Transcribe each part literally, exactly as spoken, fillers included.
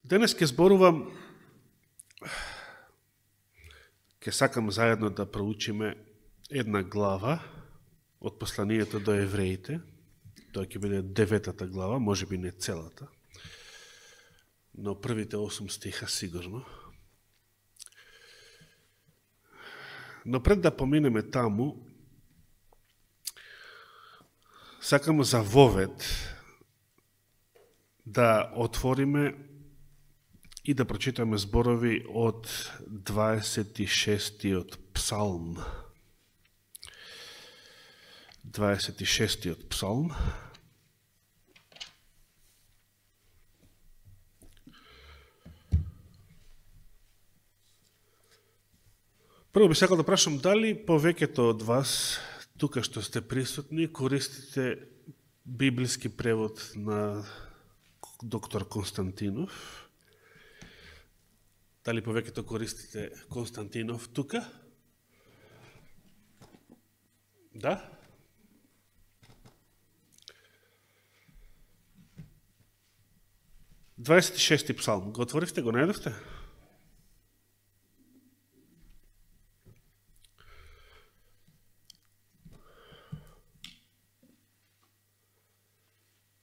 Денес ќе зборувам, ќе сакам заедно да проучиме една глава од посланието до евреите. Тоа ќе биде деветата глава, може би не целата, но првите осум стиха сигурно. Но пред да поминеме таму, сакам за вовед да отвориме и да прочитаме зборови од дваесет и шестиот псалм. дваесет и шестиот псалм. Прво би сакал да прашам дали повеќето од вас, тука што сте присутни, користите библиски превод на доктор Константинов? Дали повеќето користите Константинов тука? Да? дваесет и шести псалм. Го отворивте, го најдовте?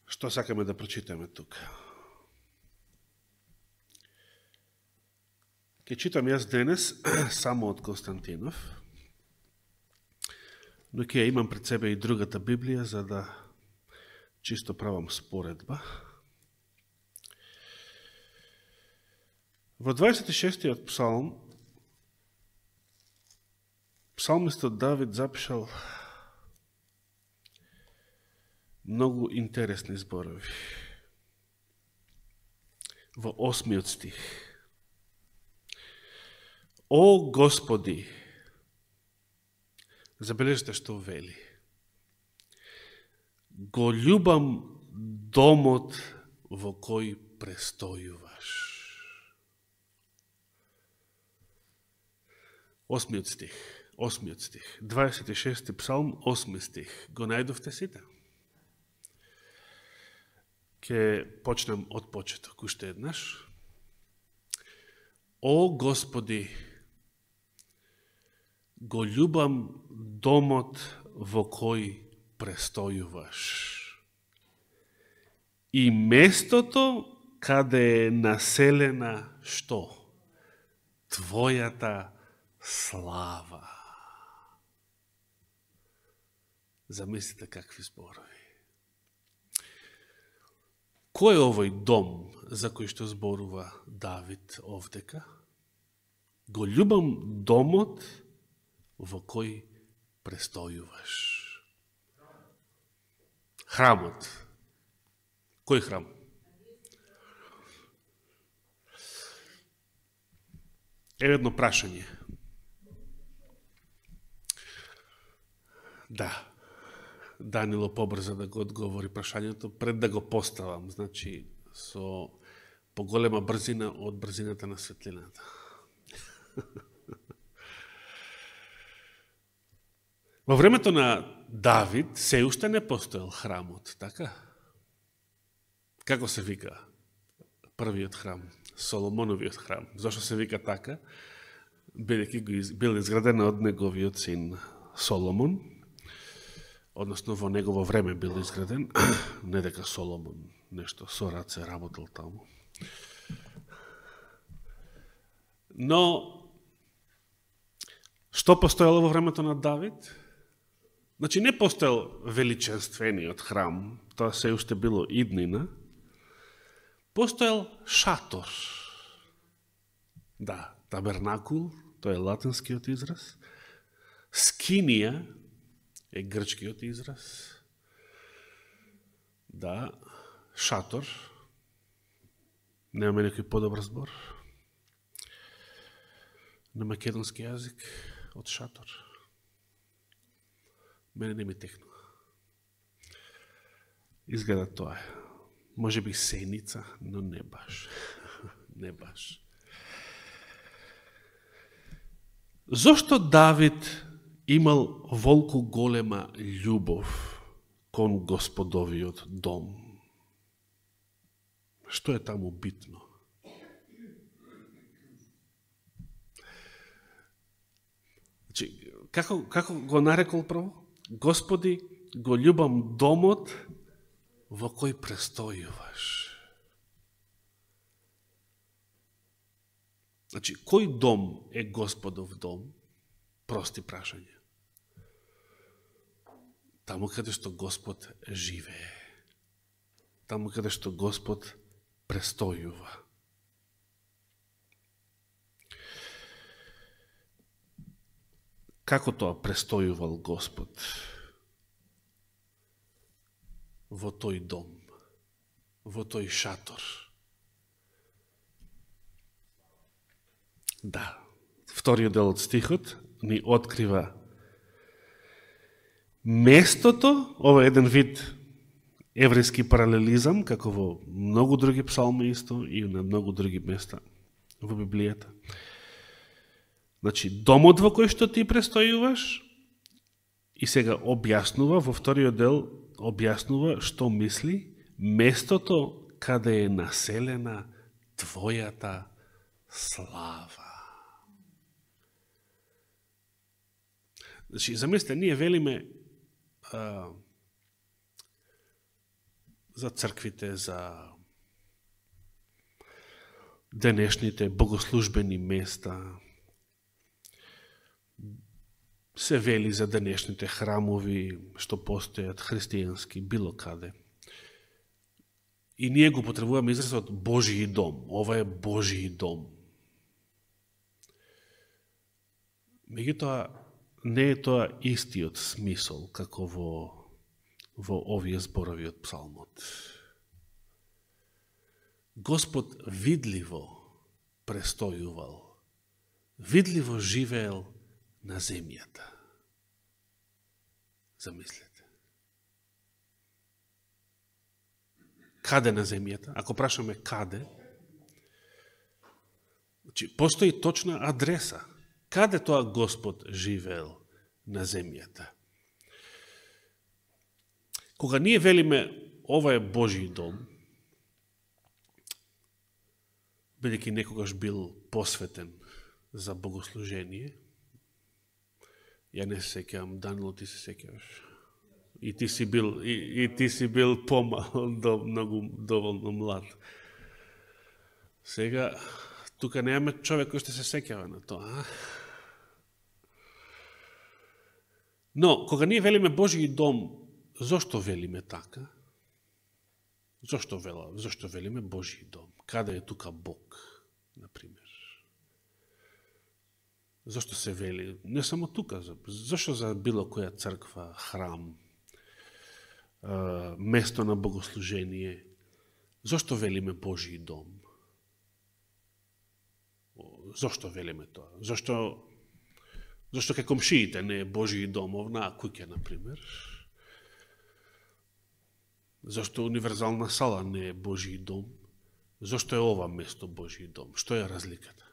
Што сакаме да прочитаме тука? Ке читам јас денес само од Константинов, но ќе имам пред себе и другата Библија, за да чисто правам споредба. Во дваесет и шестиот псалм, псалмистот Давид запишал многу интересни зборови. Во осмиот стих: О Господи, забележите што вели, го љубам домот во кој престојуваш. Осмиот стих, осмиот стих, дваесет и шести псалм, осми стих. Го најдовте сите? Ке почнем од почеток уште еднаш. О Господи, го љубам домот во кој престојуваш и местото каде е населена што? Твојата слава. Замислите какви зборови. Кој е овој дом за кој што зборува Давид овдека? Го љубам домот во кој престојуваш. Храмот. Кој храм? Еве едно прашање. Да. Данило побрза да го одговори прашањето пред да го поставам, значи со поголема брзина од брзината на светлината. Во времето на Давид се уште не постоел храмот, така? Како се вика првиот храм? Соломоновиот храм. Зошто се вика така? Бидејќи бил изграден од неговиот син Соломон, односно во негово време бил изграден, не дека Соломон нешто со раце работел таму. Но, што постоело во времето на Давид? Значи, не постоел величенствениот храм, тоа се уште било иднина, постоел шатор. Да, табернакул, тоа е латинскиот израз. Скинија е грчкиот израз. Да, шатор. Немаме некој подобар збор на македонски јазик од шатор. Мене не ми текнува. Изгледа тоа е. Може би сеница, но не баш. Не баш. Зошто Давид имал волку голема љубов кон Господовиот дом? Што е таму битно? како, како го нарекол прво? Господи, го љубам домот во кој престојуваш. Значи, кој дом е Господов дом? Прости прашање. Таму каде што Господ живее. Таму каде што Господ престојува. Како тоа престојувал Господ во тој дом, во тој шатор? Да, вториот дел од стихот ни открива местото, ова е еден вид еврејски паралелизам, како во многу други псалми исто и на многу други места во Библијата. Значи, домот во кој што ти престојуваш, и сега објаснува, во вториот дел објаснува што мисли местото каде е населена твојата слава. Значи, замислете, ние велиме а, за црквите, за денешните богослужбени места, се вели за денешните храмови што постојат христијански било каде. И ние го потребуваме изразот Божји дом. Ова е Божји дом. Меѓутоа, не е тоа истиот смисол како во, во овие зборови од псалмот. Господ видливо престојувал, видливо живеел на земјата. Замислете. Каде на земјата? Ако прашаме каде, значи, постои точна адреса. Каде тоа Господ живеел на земјата? Кога ние велиме ова е Божји дом, бидејќи некогаш бил посветен за богослужение, ја не се сеќавам, Данило, ти се сеќаваш. И ти си бил, и, и ти си бил помал, до, многу доволно млад. Сега, тука немаме човек кој што се сеќава на тоа. А? Но, кога ние велиме Божји дом, зошто велиме така? Зошто вела? Зошто велиме Божји дом? Каде е тука Бог, например? Зошто се вели? Не само тука. Зошто за било која црква, храм, место на богослужение? Зошто велиме Божји дом? Зошто велиме тоа? Зошто Зошто кај комшиите не е Божји дом, овнаа куќа, например? Зошто универзална сала не е Божји дом? Зошто е ова место Божји дом? Што е разликата?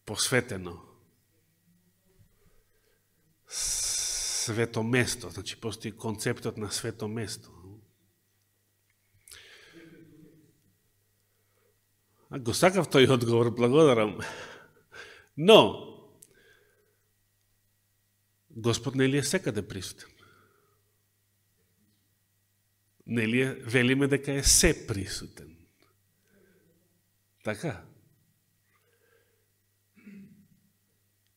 Посветено. Свето место, значи постои концептот на свето место. А го сакав тој одговор, благодарам. Но, Господ нели е секаде присутен? Нели е, велиме дека е се присутен? Така?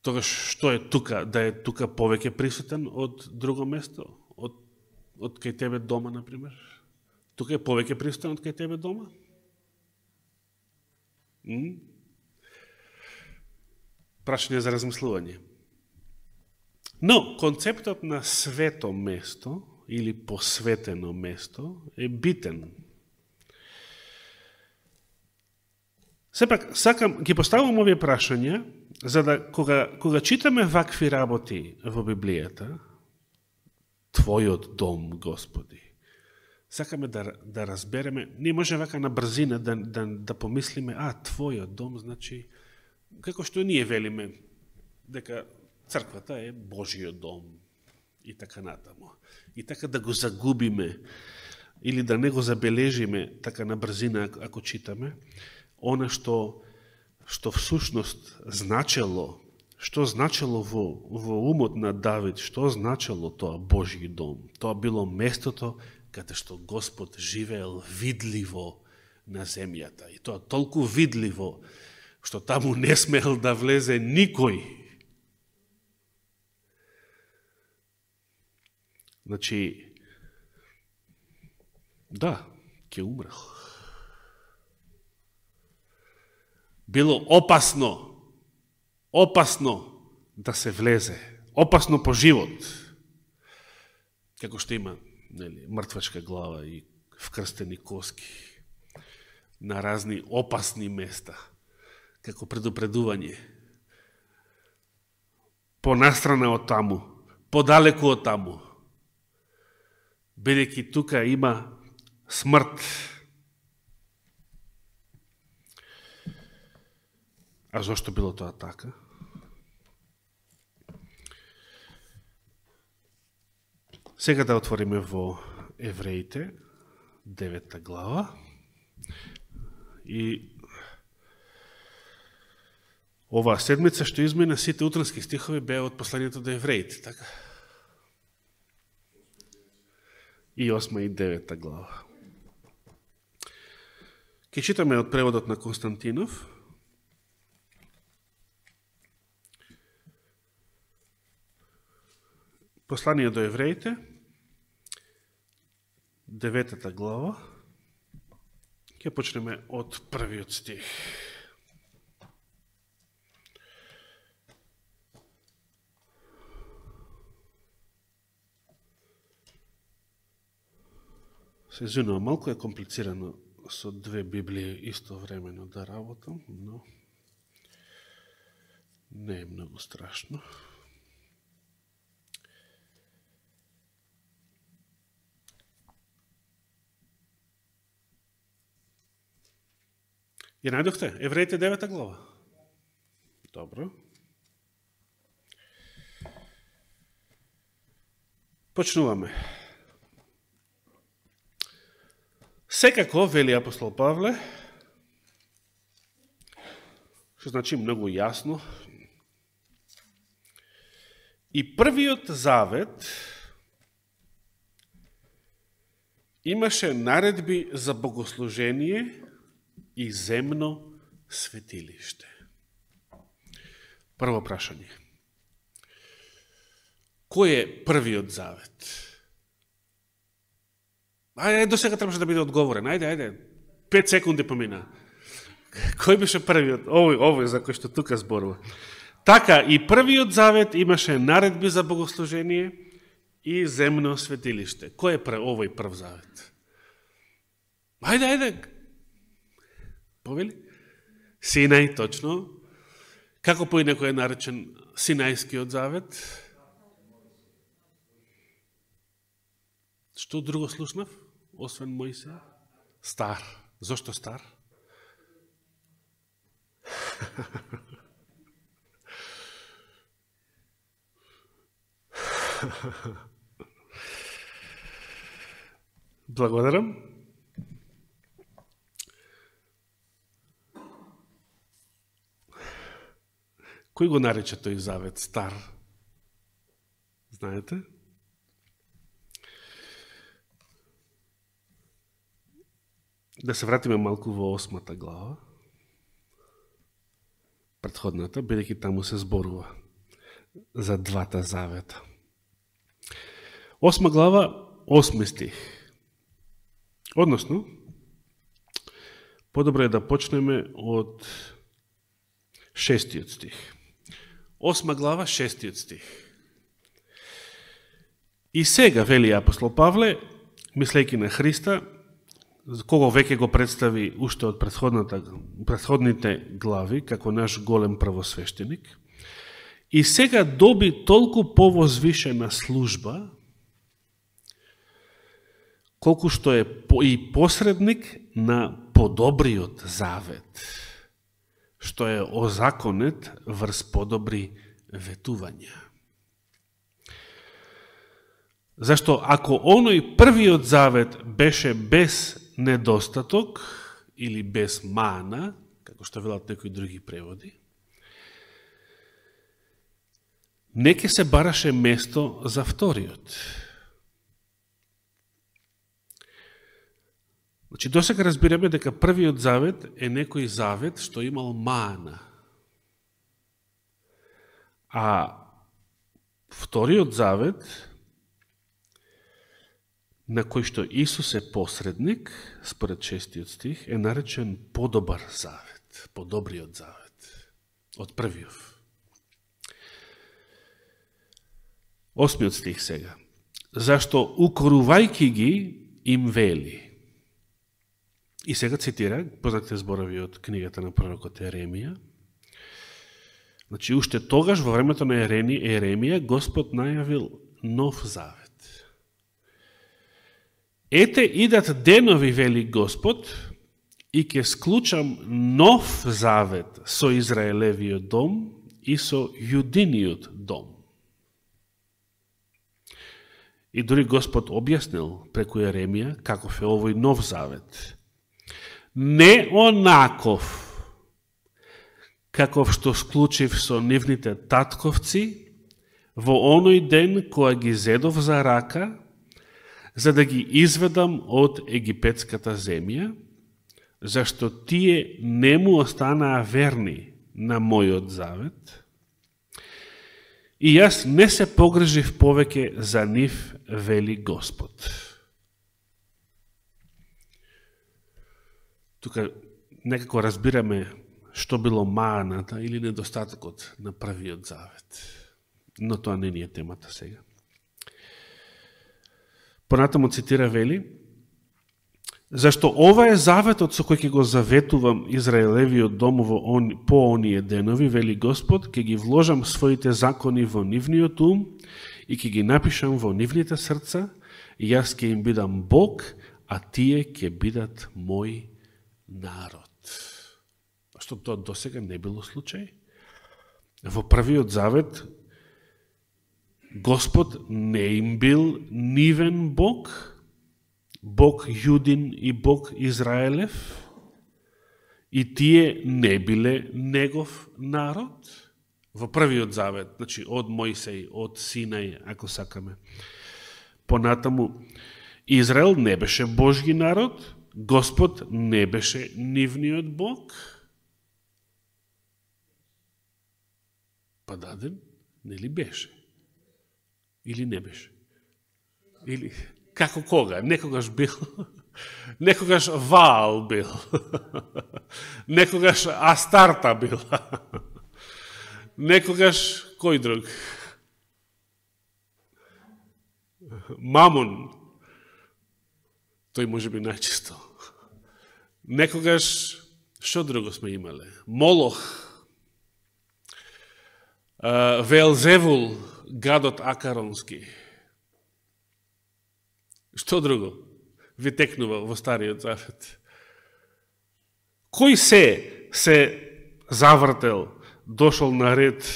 Тогаш што е тука? Да е тука повеќе присутен од друго место? Од, од кај тебе дома, например? Тука е повеќе присутен од кај тебе дома? М? Прашање за размислување. Но, концептот на свето место или посветено место е битен. Сепак, сакам, ги поставам овие прашања, за да, кога, кога читаме вакви работи во Библијата, Твојот дом, Господи, сакаме да, да разбереме, ние може вака на брзина да, да, да помислиме, а, Твојот дом, значи, како што ние велиме, дека црквата е Божиот дом и така натаму. И така да го загубиме или да не го забележиме така на брзина ако читаме, она што што всушност значело, што значело во, во умот на Давид, што значело тоа Божји дом. Тоа било местото каде што Господ живеел видливо на земјата. И тоа толку видливо, што таму не смел да влезе никој. Значи, да, ќе умрел. Било опасно, опасно да се влезе, опасно по живот. Како што има, нели, мртвачка глава и вкрстени коски на разни опасни места, како предупредување. Понастрана од таму, подалеку од таму, бидејќи тука има смрт. А зошто било тоа така? Сега да отвориме во Евреите, девета глава. И оваа седмица што измина, сите утрански стихови беа од посланието до Евреите, така? И осма и девета глава. Ке читаме од преводот на Константинов. Послание до Евреите, деветата глава. Ке почнеме од првиот стих. Се извинувам, малку е комплицирано со две Библии истовремено да работам, но не е многу страшно. Ја најдохте? Евреите девета глава. Добро. Почнуваме. Секако, вели апостол Павле, што значи многу јасно, и првиот завет имаше наредби за богослужение и земно светилиште. Прво прашање. Кој е првиот завет? Ајде, до сега требаше да биде одговорен. Ајде, ајде. Пет секунди помина. Кој беше првиот? Овој, овој за кој што тука зборува. Така, и првиот завет имаше наредби за богослужение и земно светилиште. Кој е прв, овој прв завет? Ајде, ајде. Повели? Синај, точно. Како поинеко е наречен Синајскиот завет? Што друго слушнав, освен Мојсе? Стар. Зошто стар? Благодарам. Кој го нарече тој завет стар? Знаете? Да се вратиме малку во осмата глава, претходната, бидејќи таму се зборува за двата завета. Осма глава, осми стих. Односно, подобро е да почнеме од шестиот стих. Осма глава, шестиот стих. И сега, вели апостол Павле, мислејќи на Христа, кого веќе го представи уште од претходните глави, како наш голем првосвештеник, и сега доби толку повозвишена служба, колку што е и посредник на подобриот завет, што е озаконет врз подобри ветувања. Зашто ако оној првиот завет беше без недостаток или без мана, како што велат некои други преводи, не ке се бараше место за вториот. Значи, досега разбираме дека првиот завет е некој завет што имал маана. А вториот завет, на кој што Исус е посредник, според шестиот стих, е наречен подобар завет, подобриот завет од првиот. Осмиот стих сега. Зашто укорувајки ги им вели. И сега цитира, познатите зборови од книгата на пророкот Еремија. Значи, уште тогаш, во времето на Еремија, Господ најавил нов завет. Ете, идат денови, вели Господ, и ќе склучам нов завет со Израелевиот дом и со Јудиниот дом. И дури Господ објаснил преку Еремија каков е овој нов завет. Не онаков каков што склучив со нивните татковци во оној ден која ги зедов за рака, за да ги изведам од египетската земја, зашто тие не му останаа верни на мојот завет, и јас не се погрижив повеќе за нив, вели Господ. Тука некако разбираме што било мааната или недостатокот на првиот завет. Но тоа не ни е темата сега. Понатаму цитира, вели, зашто ова е заветот со кој ќе го заветувам Израелевиот дом во он, по оние денови, вели Господ, ќе ги вложам своите закони во нивниот ум и ќе ги напишам во нивните срца, и јас ќе им бидам Бог, а тие ќе бидат мој народ. Што тоа досега не било случај. Во првиот завет Господ не им бил нивен Бог, Бог Јудин и Бог Израелев, и тие не биле негов народ. Во првиот завет, значи од Мојсеј, од Синај, ако сакаме. Понатаму, Израел не беше Божги народ, Господ не беше нивниот Бог. Па даден, нели беше? Или не беше? Или како кога? Некогаш бил, некогаш Ваал бил, некогаш Астарта била, некогаш кој друг? Мамон, тој може би најчисто. Некогаш, што друго сме имале? Молох, Велзевул, гадот Акаронски. Што друго ви текнува во Стариот Завет? Кој се се завртел, дошол на ред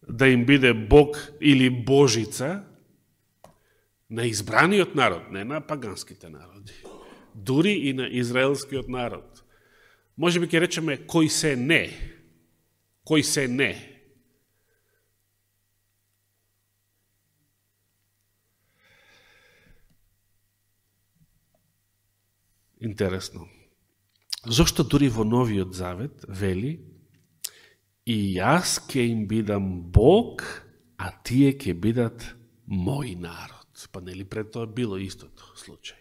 да им биде Бог или Божица на избраниот народ, не на паганските народи, дури и на израелскиот народ? Може би ќе речеме кој се не, кој се не. Интересно. Зошто дури во Новиот Завет вели и јас ќе им бидам Бог, а тие ќе бидат мој народ. Па нели пред тоа било истото случај?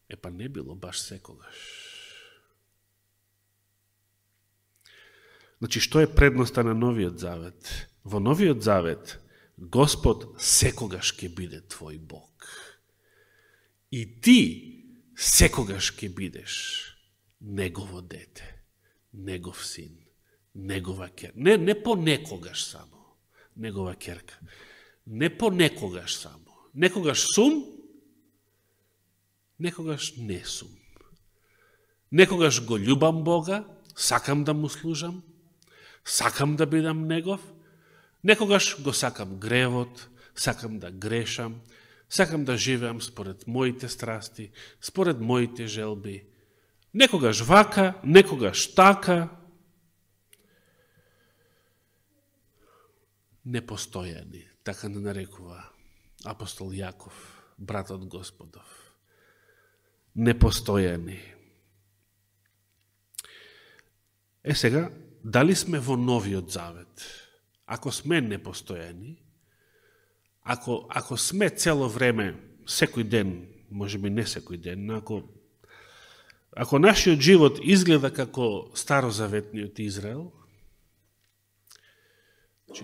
Е, па не било баш секогаш. Значи, што е предноста на Новиот Завет? Во Новиот Завет Господ секогаш ќе биде твој Бог. И ти секогаш ќе бидеш негово дете, негов син, негова керка. Не, не понекогаш само, негова керка. Не понекогаш само. Некогаш сум, некогаш не сум. Некогаш го љубам Бога, сакам да му служам, сакам да бидам негов, некогаш го сакам гревот, сакам да грешам, сакам да живеам според моите страсти, според моите желби. Некогаш вака, некогаш така. Непостојани, така не нарекува апостол Јаков, братот Господов. Непостојани. Е сега, дали сме во новиот завет? Ако сме непостојани, ако, ако сме цело време, секој ден, може би не секој ден, ако, ако нашиот живот изгледа како старозаветниот Израел,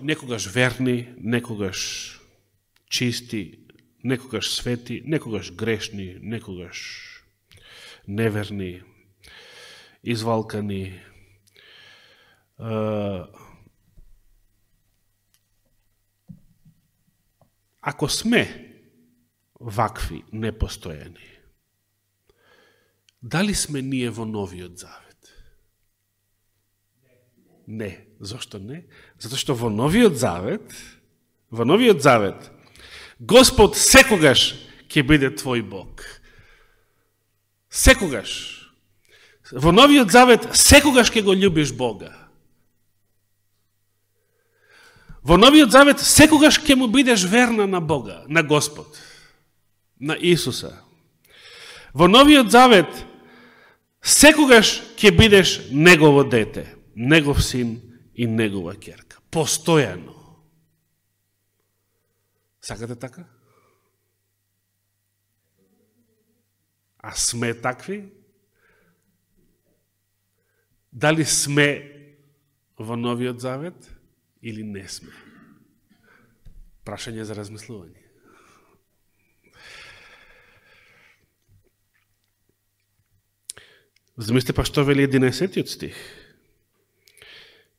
некогаш верни, некогаш чисти, некогаш свети, некогаш грешни, некогаш неверни, извалкани, ако сме вакви непостојани, дали сме ние во новиот завет? Не. Зошто не? Затоа што во новиот завет, во новиот завет, Господ секогаш ќе биде твој Бог. Секогаш. Во новиот завет секогаш ќе го љубиш Бога. Во новиот завет секогаш ќе му бидеш верна на Бога, на Господ, на Исуса. Во новиот завет секогаш ќе бидеш негово дете, негов син и негова ќерка. Постојано. Сакате така? А сме такви? Дали сме во новиот завет или не сме? Прашање за размислување. Замислите па што вели единаесеттиот стих.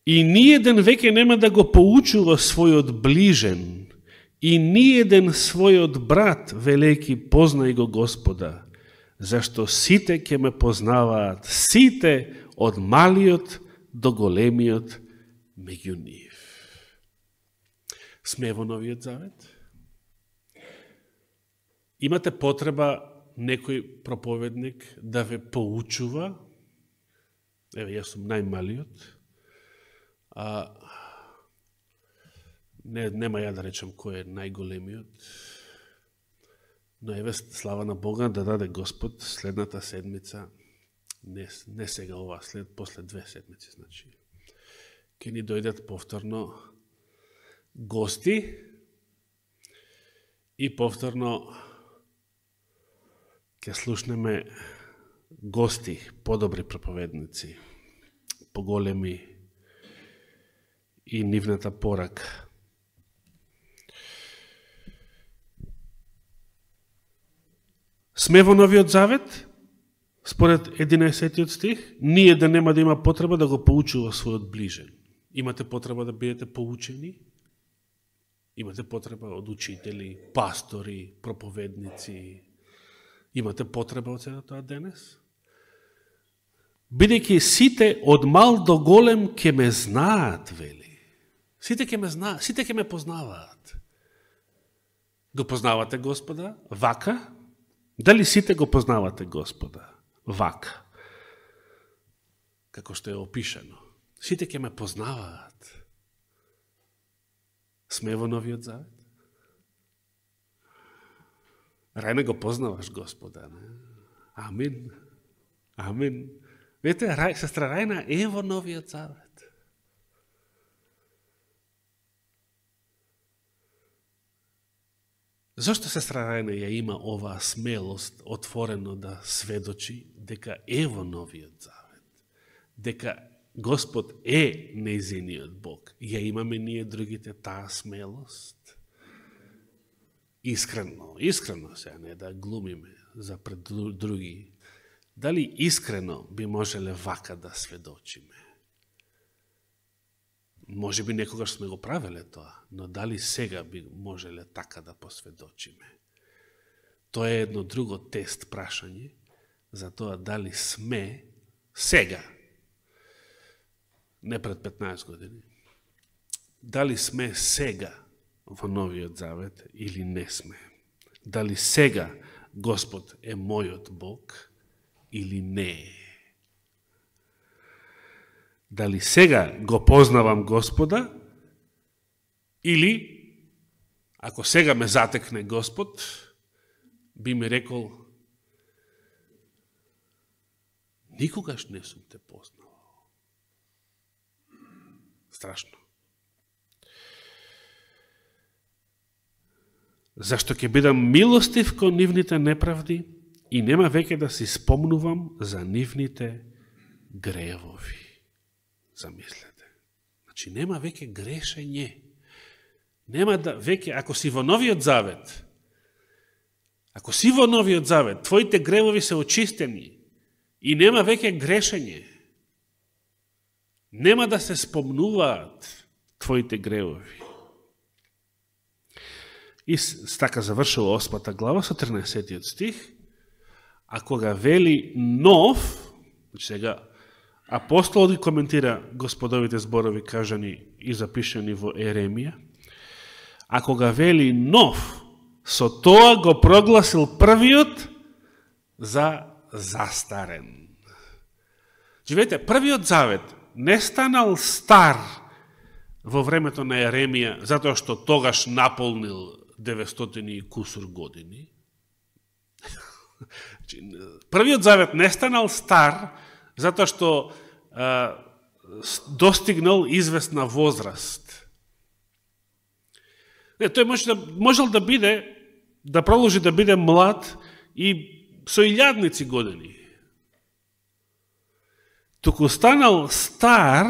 И ниеден веќе нема да го поучува својот ближен, и ниеден својот брат, велејќи познај го Господа, зашто сите ќе ме познаваат, сите од малиот до големиот меѓу нив. Сме во новиот завет? Имате потреба некој проповедник да ве поучува? Еве, јас сум најмалиот. А, не, нема ја да речем кој е најголемиот, но еве слава на Бога да даде Господ следната седмица, не, не сега ова, след, после две седмици, значи, ќе ни дојдат повторно гости и повторно ќе слушнеме гости, подобри проповедници, поголеми и нивната порака. Сме во новиот завет, според единаесеттиот стих, ние да нема да има потреба да го поучува својот ближен. Имате потреба да бидете поучени? Имате потреба од учители, пастори, проповедници? Имате потреба од сега тоа денес? Бидејќи сите од мал до голем ќе ме знаат, вели. Сите ќе ме знаат, сите ќе ме познаваат. Го познавате Господа? Вака? Дали сите го познавате Господа? Вака. Како што е опишано. Сите ќе ме познаваат. Сме во новиот завет? Рајна го познаваш Господа, не? Амин. Амин. Видите, Рај, сестра Рајна е во новиот завет. Зошто сестра Рајна ја има оваа смелост отворено да сведочи дека е во новиот завет? Дека Господ е нејзиниот Бог. Ја имаме ние другите таа смелост? Искрено, искрено се, не да глумиме за пред други. Дали искрено би можеле вака да сведочиме? Може би некогаш сме го правеле тоа, но дали сега би можеле така да посведочиме? Тоа е едно друго тест прашање за тоа дали сме сега, не пред петнаесет години, дали сме сега во новиот завет или не сме? Дали сега Господ е мојот Бог или не е? дали сега го познавам Господа, или ако сега ме затекне Господ, би ми рекол, никогаш не сум те познал. Страшно. Зашто ќе бидам милостив кон нивните неправди и нема веќе да си спомнувам за нивните гревови. Замислете. Значи нема веќе грешење. Нема да веќе, ако си во Новиот Завет, ако си во Новиот Завет, твоите гревови се очистени и нема веќе грешење. Нема да се спомнуваат твоите гревови. И така завршува осмата глава со тринаесеттиот стих, а кога вели нов, сега апостолот ги коментира Господовите зборови кажани и запишани во Еремија, а кога вели нов, со тоа го прогласил првиот за застарен. Живете, првиот завет не станал стар во времето на Еремија, затоа што тогаш наполнил деветстотини и кусур години. Првиот завет не станал стар, затоа што а, достигнал известна возраст. Не, тој може да, можел да биде, да продолжи да биде млад и со илјадници години. Туку станал стар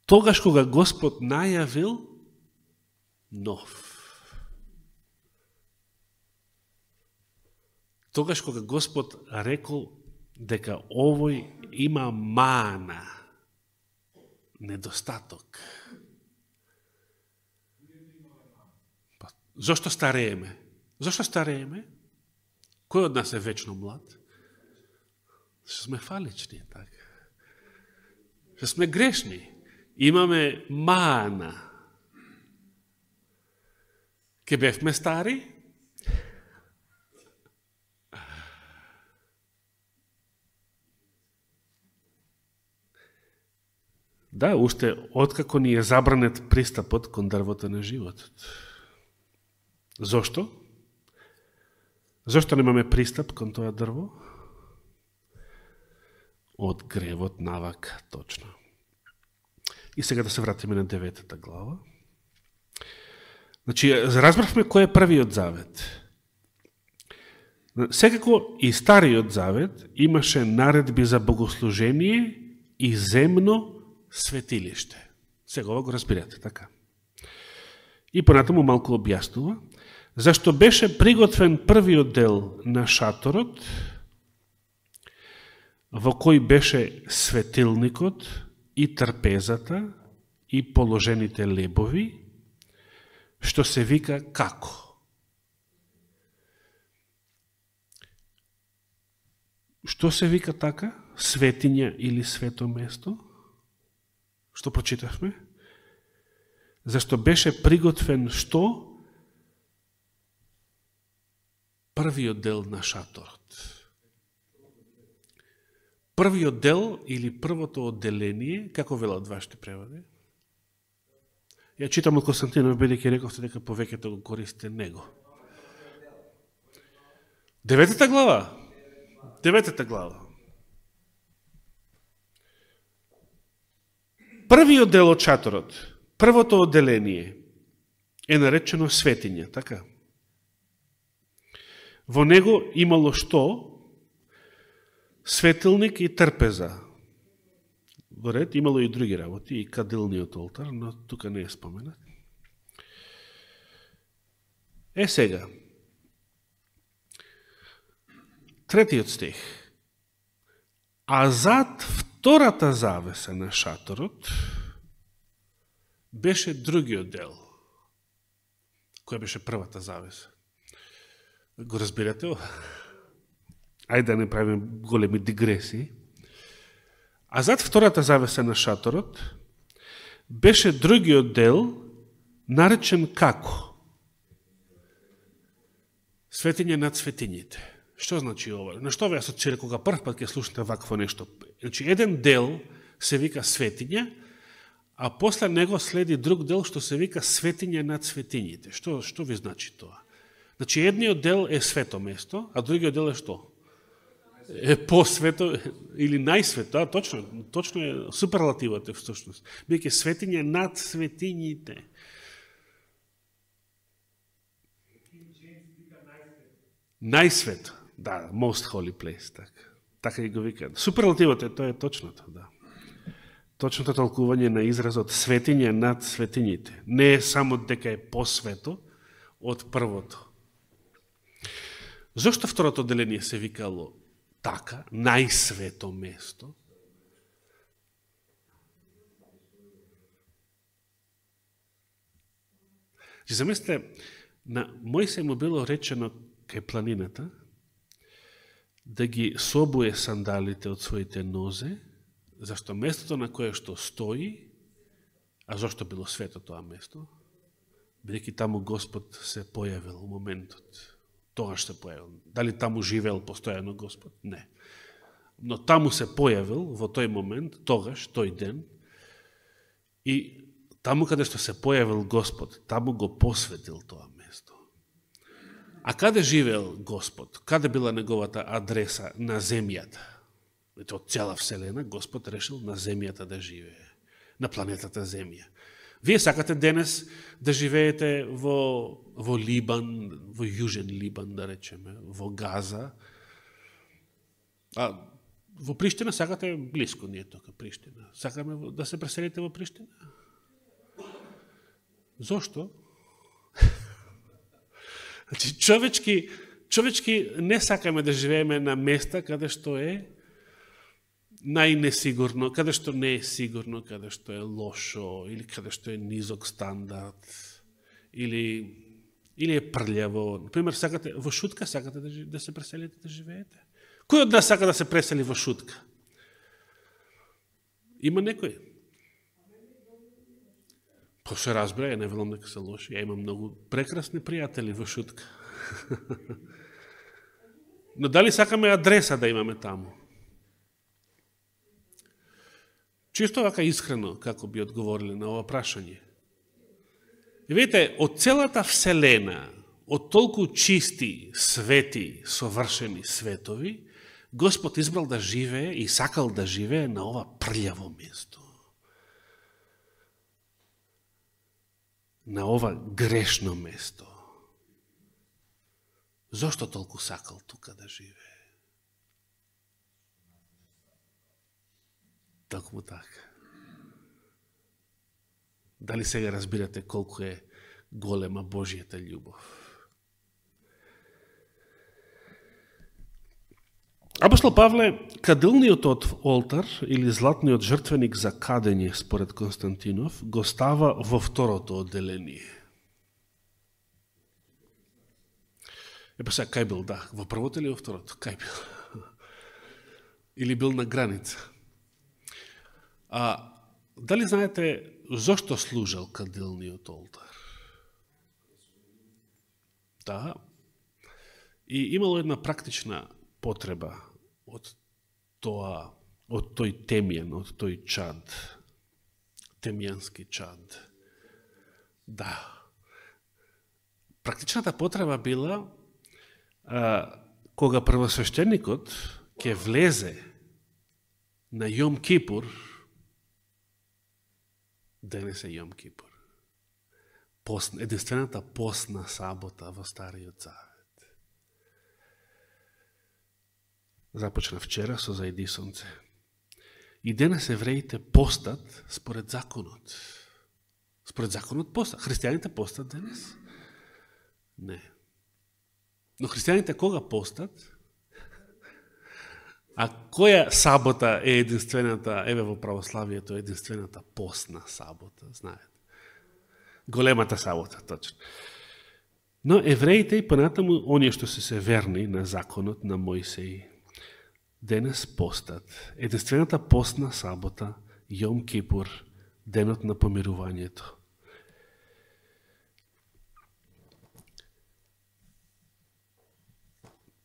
тогаш кога Господ најавил нов. Тогаш кога Господ рекол дека овој има мана, недостаток. Па, зошто старееме? Зошто старееме? Кој од нас е вечно млад? Што сме фалични, така. Што сме грешни. Имаме мана. Ке бевме стари? Да, уште откако ни е забранет пристапот кон дрвото на животот. Зошто? Зошто немаме пристап кон тоа дрво? Од гревот навак, точно. И сега да се вратиме на деветата глава. Значи, разбравме кој е првиот завет. Секако и стариот завет имаше наредби за богослужение и земно светилиште. Сега ова го разбирате, така. И понатаму малку објаснува зашто беше приготвен првиот дел на шаторот, во кој беше светилникот и трпезата и положените лебови, што се вика како? Што се вика така? Светиња или свето место? Што прочитавме? Зашто беше приготвен што? Првиот дел на шаторот. Првиот дел или првото одделение, како велат вашите преводи? Ја читам од Константинов, бидејќи рековте дека повеќето го користите него. Деветата глава. Деветата глава. Првиот дел од шаторот, првото одделение е наречено светиња, така? Во него имало што? Светилник и трпеза. Во ред, имало и други работи, и кадилниот олтар, но тука не е споменат. Е сега. Третиот стих. А зад втората завеса на шаторот беше другиот дел. Која беше првата завеса? Го разбирате? Ајде да не правим големи дигресии. А зад втората завеса на шаторот беше другиот дел, наречен како? Светиње над светињите. Што значи ова? На што ве асоцира кога прв пат ќе слушате вакво нешто? Значи, еден дел се вика светиња, а после него следи друг дел што се вика светиња над светињите. Што, што ви значи тоа? Значи, едниот дел е свето место, а другиот дел е што? Е посвето или најсвето, а точно, точно е суперлативот е всушност. Биќе светиња над светињите. Најсвето, да, most holy place, така. Така и го викаат. Суперлативот е, тоа е точното, да. Точното толкување на изразот светиња над светињите. Не е само дека е посвето од првото. Зошто второто деление се викало така, најсвето место? Замислете, на Мојсей му било речено кај планината да ги собуе сандалите од своите нозе, зашто местото на кое што стои, а зашто било свето тоа место, бидејќи таму Господ се појавил у моментот. Тогаш се појавил. Дали таму живеел постојано Господ? Не. Но таму се појавил во тој момент, тогаш, тој ден, и таму каде што се појавил Господ, таму го посветил тоа место. А каде живеел Господ? Каде била неговата адреса на земјата? Ето, од цела Вселена Господ решил на земјата да живее, на планетата Земја. Вие сакате денес да живеете во, во Либан, во Јужен Либан, да речеме, во Газа. А во Приштина сакате близко, ние тока Приштина. Сакаме да се преселите во Приштина? Зошто? Значи, човечки, човечки не сакаме да живееме на места каде што е најнесигурно, каде што не е сигурно, каде што е лошо, или каде што е низок стандард, или, или е прљаво. Например, сакате, во Шутка сакате да, да се преселите, да живеете? Кој од нас сака да се пресели во Шутка? Има некој? Па се разбира, ја не велам дека се лоши. Ја имам многу прекрасни пријатели во Шутка. Но дали сакаме адреса да имаме таму? Чисто вака искрено, како би одговорили на ова прашање. И видите, од целата Вселена, од толку чисти, свети, совршени светови, Господ избрал да живее и сакал да живее на ова прљаво место. На ова грешно место. Зошто толку сакал тука да живее? Токму така. Дали сега разбирате колку е голема Божијата љубов? Апостол Павле, кадилниот олтар или златниот жртвеник за кадење според Константинов го става во второто одделение. Епа сега, кај бил, да, во првото или во второто? Кај бил? Или бил на граница? А дали знаете зошто служел кадилниот олтар? Да. И имало една практична потреба од тоа, од тој темјан, од тој чад, темјански чад. Да. Практичната потреба била а, кога првосвещеникот ќе влезе на Јом Кипур, денес е Јом Кипур, пост, единствената постна сабота во Стариот Завет. Започна вчера со зајди сонце. И денес евреите постат според законот. Според законот постат. Христијаните постат денес? Не. Но христијаните кога постат? А која сабота е единствената, еве во православието е единствената постна сабота, знаете? Големата сабота, точно. Но евреите и понатаму, оние што се се верни на законот на Мојсеј, денес постат. Единствената постна сабота, Јом Кипур, денот на помирувањето.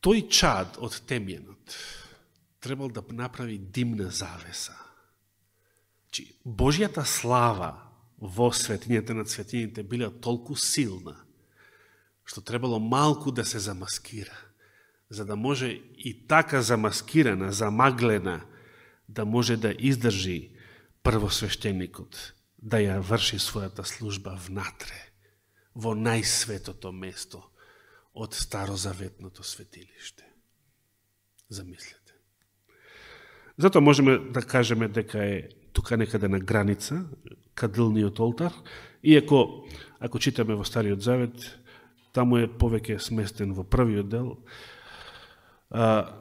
Тој чад од темјенот, требал да направи димна завеса. Чи, Божјата слава во светињата на светињите била толку силна, што требало малку да се замаскира, за да може и така замаскирана, замаглена, да може да издржи првосвештеникот, да ја врши својата служба внатре, во најсветото место од старозаветното светилиште. Замислете. Зато можеме да кажеме дека е тука некаде на граница, кадилниот олтар, иако, ако читаме во Стариот Завет, таму е повеќе сместен во првиот дел, а,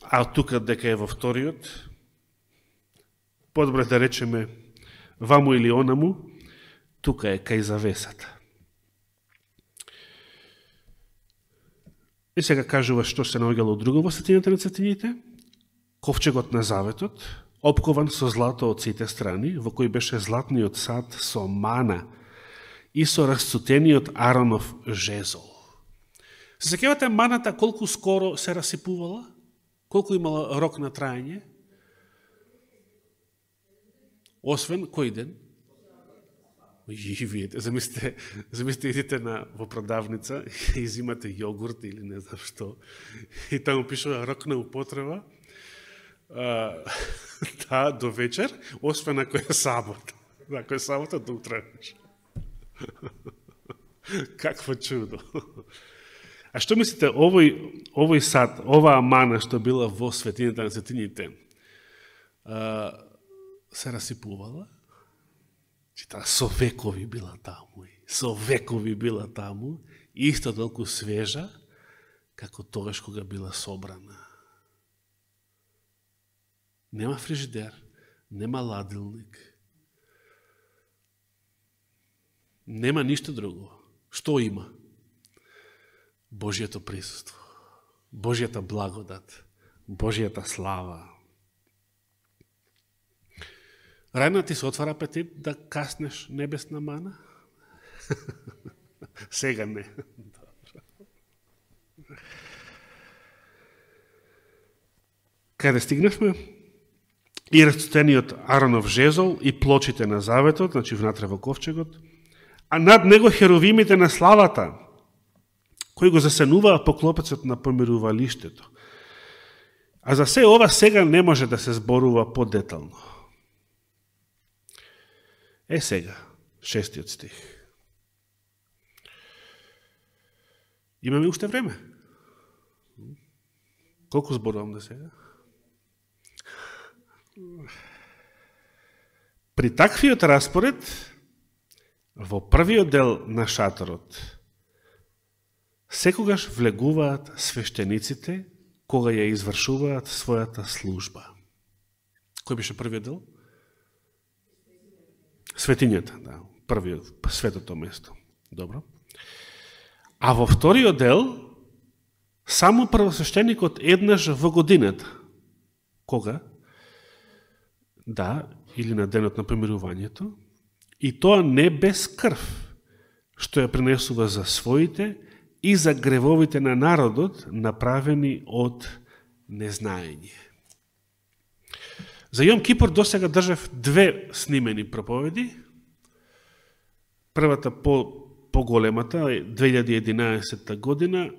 а тука дека е во вториот, подобре да речеме ваму или онаму, тука е кај завесата. И сега кажува што се наоѓало друго во светињата на светињите, ковчегот на заветот, опкован со злато од сите страни, во кој беше златниот сад со мана и со расцутениот Аронов жезол. Се сеќавате маната колку скоро се расипувала? Колку имала рок на трајање? Освен кој ден? И видите, замислите, замислите идите на, во продавница и изимате јогурт или не знам што, и таму пишува рок на употреба, а, да, до вечер, освен ако е сабота. Ако е сабота, до утре. Какво чудо. А што мислите, овој, овој сад, оваа мана што била во светињата на светињите, а, се расипувала? Таа со векови била таму, со векови била таму, исто толку свежа, како тогаш кога била собрана. Нема фрижидер, нема ладилник, нема ништо друго. Што има? Божјето присуство, Божјата благодат, Божјата слава. Рајна ти се отвара апетит да каснеш небесна мана? Сега не. Каде стигнавме? И расцутениот Аронов жезол и плочите на заветот, значи внатре во ковчегот, а над него херовимите на славата, кои го засенуваа по клопецот на помирувалиштето. А за се ова сега не може да се зборува подетално. Е сега, шестиот стих. Имаме уште време. Колку зборувам до сега? При таквиот распоред, во првиот дел на шаторот, секогаш влегуваат свештениците кога ја извршуваат својата служба. Кој беше првиот дел? Светињата, да, првиот, светото место. Добро. А во вториот дел, само првосвештеникот еднаш во годината. Кога? Да, или на денот на помирувањето, и тоа не без крв, што ја принесува за своите и за гревовите на народот, направени од незнаење. За Јом Кипур досега држав две снимени проповеди. Првата по поголемата, две илјади и единаесетта година,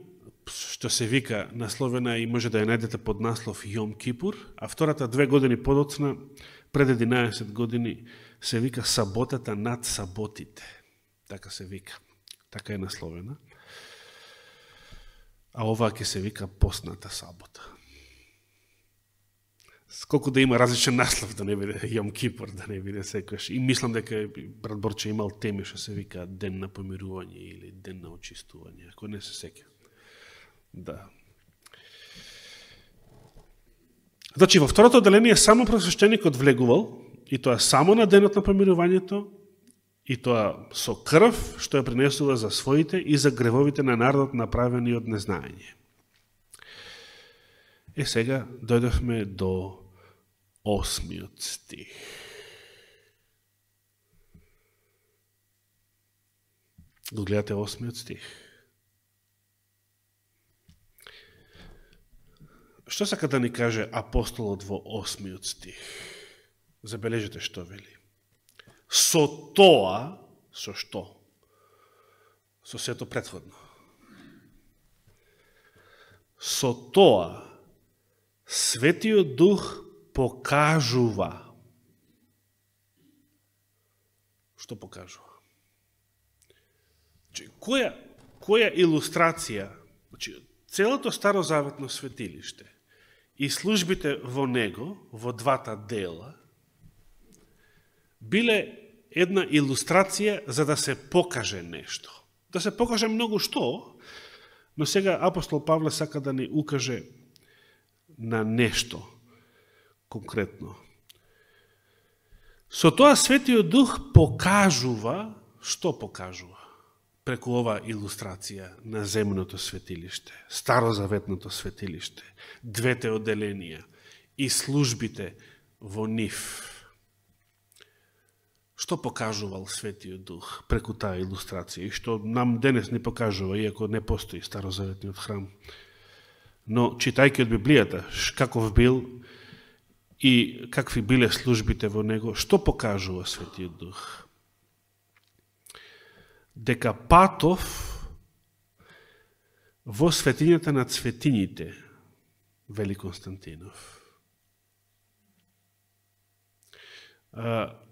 што се вика насловена и може да ја најдете под наслов Јом Кипур, а втората две години подоцна, пред единаесет години, се вика Саботата над саботите. Така се вика. Така е насловена. А оваа ќе се вика Постната сабота. Сколку да има различен наслов, да не биде Јом Кипур, да не биде секојаш. И мислам дека брат Борче имал теми што се вика Ден на помирување или Ден на очистување, ако не се сеќа. Да. Значи, во второто отделение само просвещеникот влегувал, и тоа само на денот на помирувањето, и тоа со крв, што ја принесува за своите и за гревовите на народот направени од незнаење. Е, сега дојдовме до осмиот стих. Го гледате осмиот стих. Што Што сака да ни каже апостолот во осмиот стих? Забележете што вели. Со тоа, со што? Со сето претходно. Со тоа, Светиот Дух покажува. Што покажува? Која, која илустрација, целото старозаветно светилиште и службите во него, во двата дела, биле една илустрација за да се покаже нешто. Да се покаже многу што, но сега апостол Павле сака да ни укаже на нешто конкретно. Со тоа Светиот Дух покажува, што покажува? Преку ова илустрација на земното светилиште, старозаветното светилиште, двете одделенија и службите во нив. Што покажувал Светиот Дух преку таа илустрација и што нам денес не покажува, иако не постои старозаветниот храм. Но, читајќи од Библијата, каков бил и какви биле службите во него, што покажува Светиот Дух? Дека патов во светињата на цветињите, вели Константинов.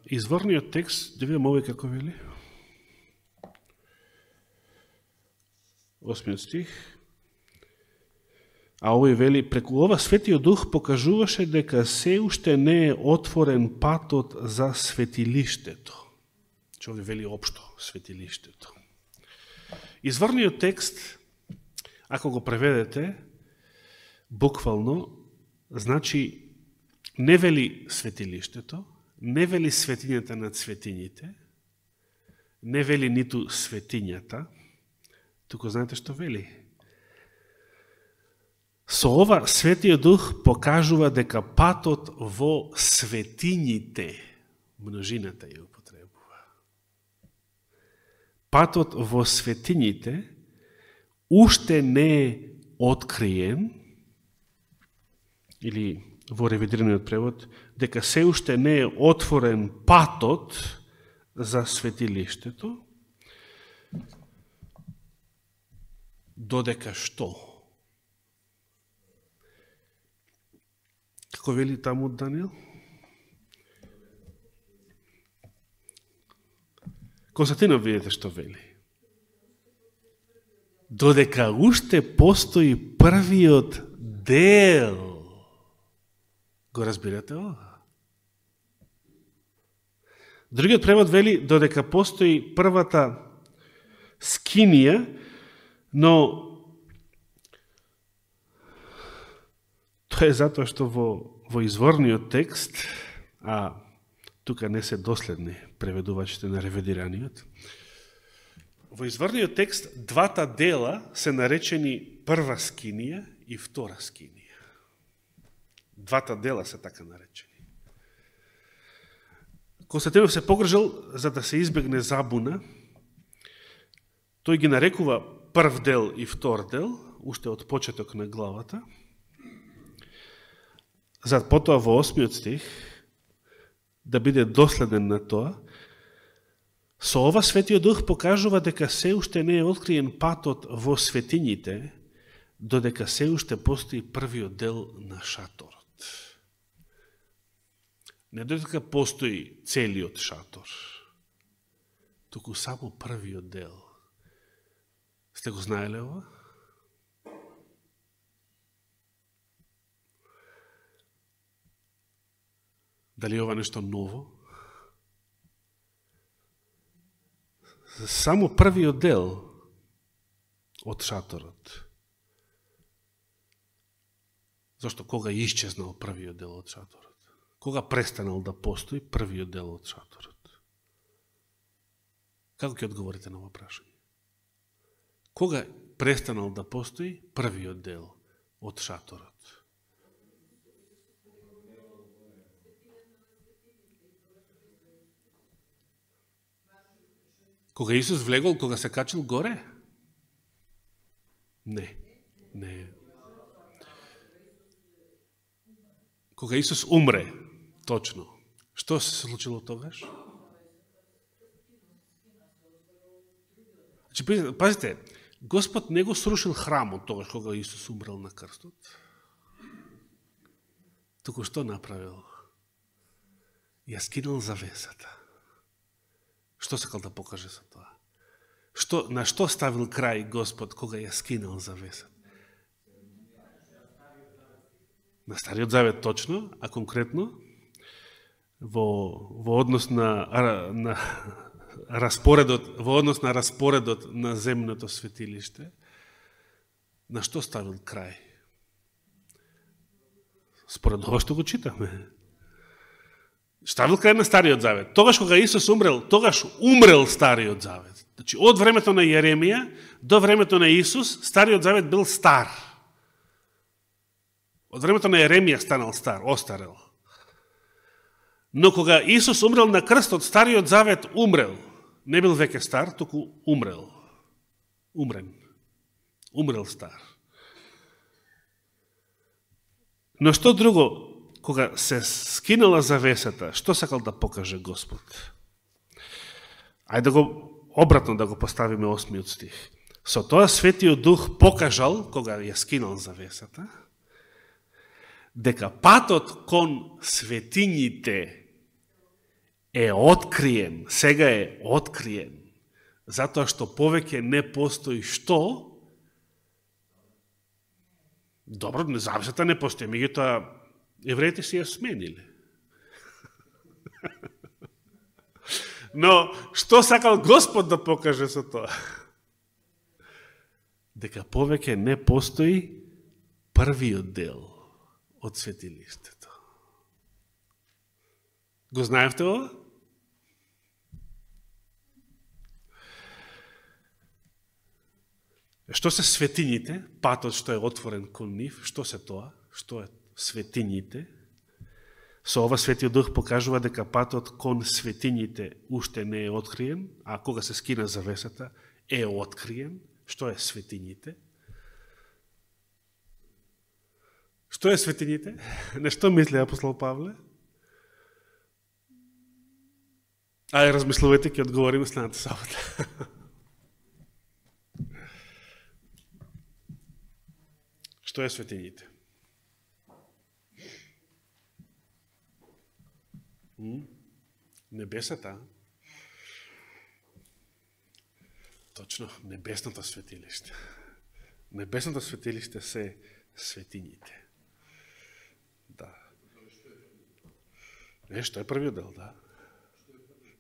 Изворниот текст, да видам овој како вели. Осмиот стих. А овој вели, преку ова Светиот Дух покажуваше дека се уште не е отворен патот за светилиштето. Че овој вели општо светилиштето. Изворниот текст, ако го преведете, буквално, значи не вели светилиштето, не вели светињата на цветињите, не вели ниту светињата, туку знаете што вели? Со ова Светиот Дух покажува дека патот во светињите, множината ја употребува. Патот во светињите уште не е откриен, или во ревидираниот превод, дека се уште не е отворен патот за светилиштето, додека што? Како вели таму Даниел? Константинов, видите што вели. Додека уште постои првиот дел. Го разбирате ова? Другиот превод вели додека постои првата скинија, но тоа е затоа што во, во изворниот текст, а тука не се доследни преведувачите на ревидираниот, во изворниот текст двата дела се наречени прва скинија и втора скинија. Двата дела се така наречени. Константинов се погрижал за да се избегне забуна. Тој ги нарекува прв дел и втор дел, уште од почеток на главата. За потоа во осмиот стих, да биде доследен на тоа, со ова Светиот Дух покажува дека се уште не е откриен патот во светињите, додека се уште постои првиот дел на шаторот. Не додека постои целиот шатор, туку само првиот дел. Сте го знаеле ова? Дали ова нешто ново? Само првиот дел од шаторот. Зашто кога исчезнал првиот дел од шаторот? Кога престанал да постои првиот дел од шаторот? Како ќе одговорите на ова прашање? Кога престанал да постои првиот дел од шаторот? Кога Исус влегол, кога се качил горе? Не, не. Кога Исус умре, точно, што се случило тогаш? Значи, пазите, Господ не го срушил храмот тогаш кога Исус умрел на крстот. Туку што направил? Ја скинал завесата. Што сакал да покаже со тоа? Што, на што ставил крај Господ кога ја скинал завесата? На Стариот Завет точно, а конкретно во, во однос на, на распоредот, во однос на распоредот на земното светилиште, на што ставил крај? Според ова што го читаме. Ставил крај на Стариот Завет. Тогаш кога Исус умрел, тогаш умрел Стариот Завет. Значи, од времето на Јеремија до времето на Исус, Стариот Завет бил стар. Од времето на Јеремија станал стар, остарел. Но кога Исус умрел на крстот, Стариот Завет умрел. Не бил веќе стар, туку умрел. Умрен. Умрел стар. Но што друго, кога се скинала завесата, што сакал да покаже Господ? Ајде да го обратно да го поставиме осмиот стих. Со тоа Светиот Дух покажал, кога ја скинал завесата, дека патот кон светињите е откриен, сега е откриен, затоа што повеќе не постои што? Добро, завесата не постои, меѓутоа евреите си ја смениле. Но, што сакал Господ да покаже со тоа? Дека повеќе не постои првиот дел од светилиштето. Го знаевте ова? Што се светињите? Патот што е отворен кон нив, што се тоа? Што е светињите? Со ова Светиот Дух покажува дека патот кон светињите уште не е откриен, а кога се скина завесата е откриен. Што е светињите? Што е светињите? Нешто мисли апостол Павле? Ајде, размислувате, ќе одговориме следната сабота. Што е светињите? Небесата. Точно, небесното светилиште. Небесното светилиште се светињите. Да. Не, што е првиот дел, да.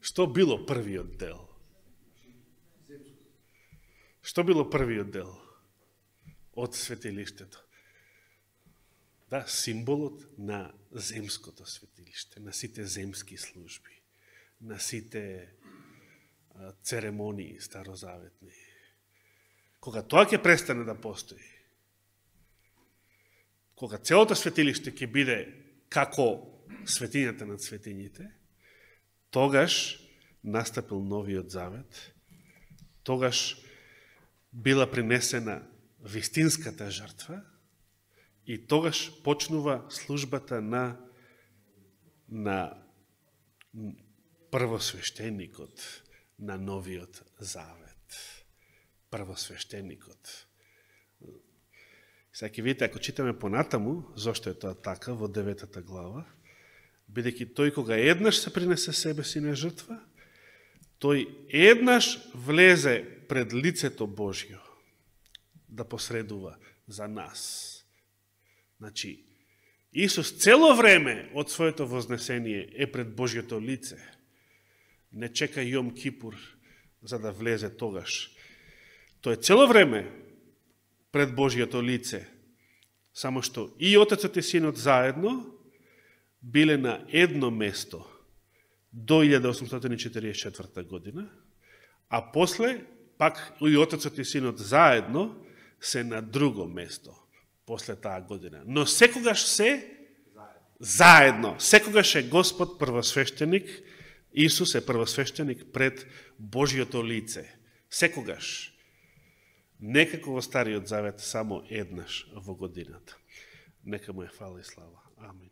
Што било првиот дел? Што било првиот дел од светилиштето? Да, символот на земското светилиште, на сите земски служби, на сите а, церемонии старозаветни. Кога тоа ќе престане да постои, кога целото светилиште ќе биде како светињата над светињите, тогаш настапил новиот завет, тогаш била принесена вистинската жртва и тогаш почнува службата на, на првосвещеникот на новиот завет. Првосвещеникот. Сега ќе видите, ако читаме понатаму, зошто е тоа така во деветата глава, бидејќи тој кога еднаш се принесе себе си на жртва, тој еднаш влезе пред лицето Божјо да посредува за нас. Значи, Исус цело време од своето вознесение е пред Божјото лице. Не чека Јом Кипур за да влезе тогаш. Тој цело време пред Божјото лице, само што и Отецот и Синот заедно биле на едно место до илјада осумстотини четиридесет и четврта година, а после пак и Отецот и Синот заедно се на друго место после таа година. Но секогаш се заедно. Секогаш е Господ првосвещеник, Исус е првосвещеник пред Божјото лице. Секогаш. Некако во Стариот Завет само еднаш во годината. Нека му е фала и слава. Амин.